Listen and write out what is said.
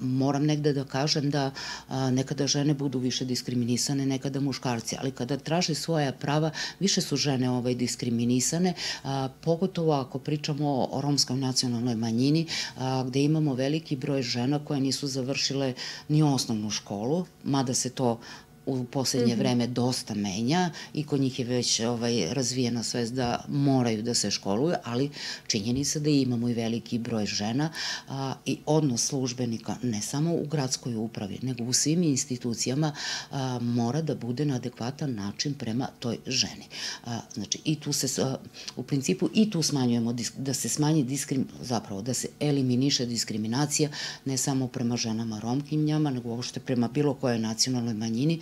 moram negde da kažem da nekada žene budu više diskriminisane, nekada muškarci, ali kada traže svoja prava, više su žene diskriminisane, pogotovo ako pričamo o romskoj nacionalnoj manjini, gde imamo veliki broj žena koje nisu završile ni osnovnu školu, mada se to u poslednje vreme dosta menja i kod njih je već razvijena svest da moraju da se školuju, ali činjenica da imamo i veliki broj žena i odnos službenika ne samo u gradskoj upravi, nego u svim institucijama mora da bude na adekvatan način prema toj ženi. Znači, i tu se, u principu, i tu smanjujemo, da se smanji zapravo, da se eliminiše diskriminacija ne samo prema ženama Romkinjama, nego uopšte prema bilo kojoj nacionalnoj manjini,